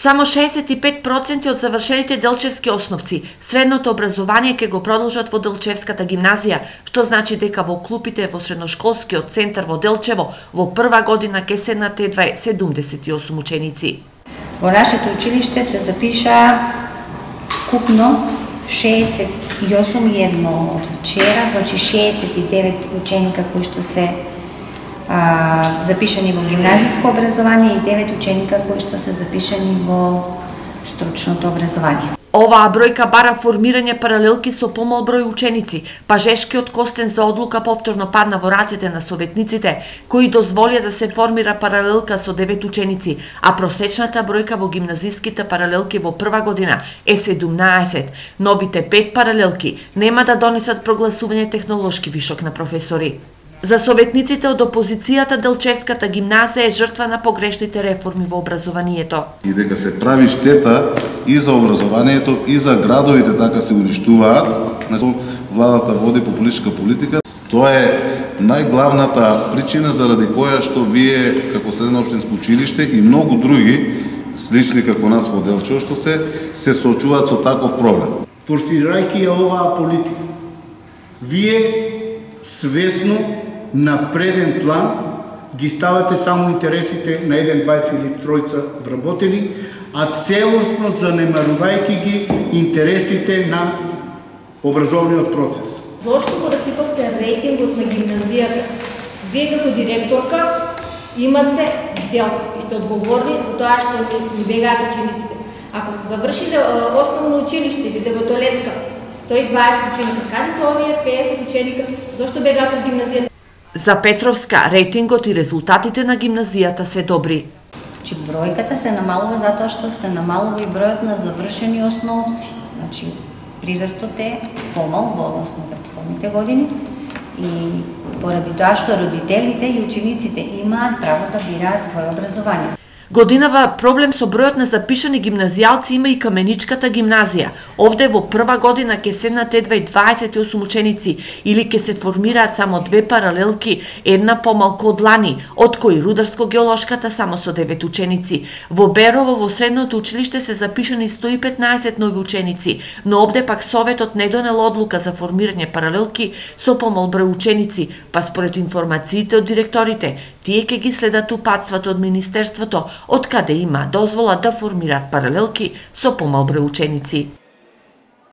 Само 65% од завршените делчевски основци средното образование ќе го продолжат во Делчевската гимназија, што значи дека во клупите во средношколскиот центар во Делчево во прва година ќе седнат едва 78 ученици. Во нашето училиште се запиша вкупно 68 од вчера, значи 69 ученика кои што се запишани во гимназиско образование и 9 ученика кои што се запишани во стручното образование. Оваа бројка бара формирање паралелки со помал број ученици, па Жешкиот костен за одлука повторно падна во рацете на советниците, кои дозволија да се формира паралелка со 9 ученици, а просечната бројка во гимназиските паралелки во прва година е 17. Новите 5 паралелки нема да донесат прогласување технолошки вишок на професори. За советниците од опозицијата Делчевската гимназија е жртва на погрешните реформи во образованието. И дека се прави штета и за образованието, и за градовите, така се уништуваат, значи владата води популистичка политика. Тоа е најглавната причина заради која што вие како средно општинско училиште и многу други слични како нас во Делчево што се соочуваат со таков проблем. Форсирајќи оваа политика, вие свесно на преден план ги ставате само интересите на 1, 20 или 3 вработени, а целосно занемарувајќи ги интересите на образовниот процес. Зошто го расипавте рейтингот на гимназијата? Вие како директорка имате дел и сте одговорни за тоа што ни бегаат учениците. Ако се завршиле основно училиште или девотолетка, 120 ученика, каде се овие 50 ученика? Зошто бегаат од гимназијата? За Петровска, рейтингот и резултатите на гимназијата се добри. Значи, бројката се намалува затоа што се намалува и бројот на завршени основци. Значи, прирастот е помал во однос на претходните години и поради тоа што родителите и учениците имаат право да бираат своје образование. Годинава проблем со бројот на запишани гимназијалци има и Каменичката гимназија. Овде во прва година ќе седнат едва 28 ученици или ќе се формираат само 2 паралелки, една помалку од лани, од кои Рударско-геолошката само со 9 ученици. Во Берово во средното училиште се запишани 115 нови ученици, но овде пак Советот не донел одлука за формирање паралелки со помал број ученици, па според информациите од директорите, тие ќе ги следат упатствата од Министерството, од каде има дозвола да формираат паралелки со помал број ученици.